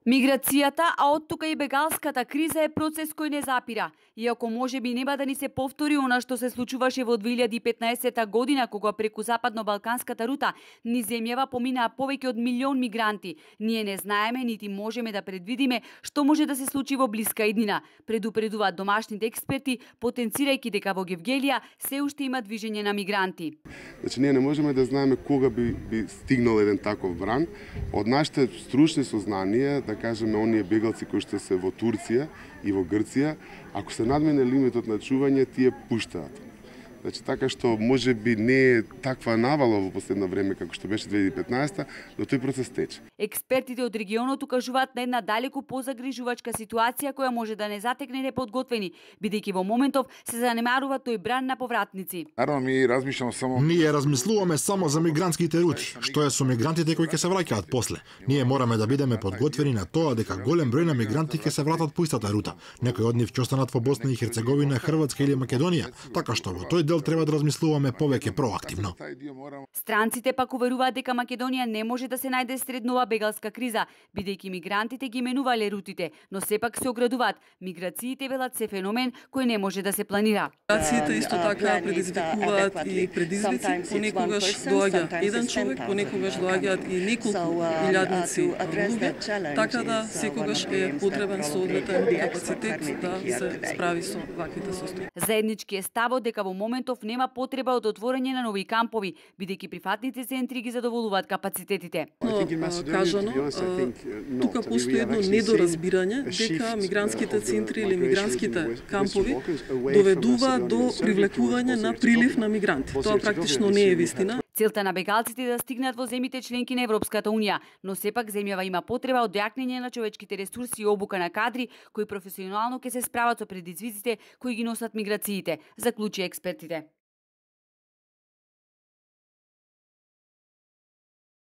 Миграцијата, а оттука и бегалската криза е процес кој не запира. Иако можеби нема да ни се повтори она што се случуваше во 2015 година, кога преку западно-балканската рута низ земјава поминаа повеќе од милион мигранти. Ние не знаеме нити можеме да предвидиме што може да се случи во блиска иднина. Предупредуваат домашните експерти, потенцирајќи дека во Гевгелија се уште има движење на мигранти. Значи ние не можеме да знаеме кога би стигнал еден таков бран. Од нашите стручни сознанија, да кажеме, оние бегалци кои што се во Турција и во Грција, ако се надмине лимитот на чување, тие пуштаат. Значи, така што може би не е таква навала во последно време како што беше 2015, но тој процес тече. Експертите од регионот укажуваат на една далеку позагрижувачка ситуација која може да не затекне неподготвени, бидејќи во моментов се занемарува тој бран на повратници. Ние размислуваме само за мигрантските рути. Што е со мигрантите кои ќе се враќаат после? Ние мораме да бидеме подготвени на тоа дека голем број на мигранти ќе се вратат по истата рута. Некои од нив ќе останат во Босна и Херцеговина, Хрватска или Македонија, така што во тој дел треба да размислуваме повеќе проактивно. Странците пак уверуваат дека Македонија не може да се најде сред нова бегалска криза, бидејќи мигрантите ги менувале рутите, но сепак се оградуваат. Миграциите велат се феномен кој не може да се планира. Миграциите исто така предизвикуваат и предизвици. Понекогаш доаѓа еден човек, понекогаш доаѓаат и неколку илјадници луѓе, така да секогаш е потребен соодветен капацитет да се справи со ваквите состојби. Заеднички е ставот дека во моментов нема потреба од отворање на нови кампови, бидејќи прифатните центри ги задоволуваат капацитетите. Кажано, тука постои едно недоразбирање дека мигрантските центри или мигрантските кампови доведуваат до привлекување на прилив на мигранти. Тоа практично не е вистина. Целта на бегалците е да стигнат во земјите членки на Европската унија, но сепак земјава има потреба од јакнење на човечките ресурси и обука на кадри кои професионално ќе се справат со предизвиците кои ги носат миграциите, заклучи експертите.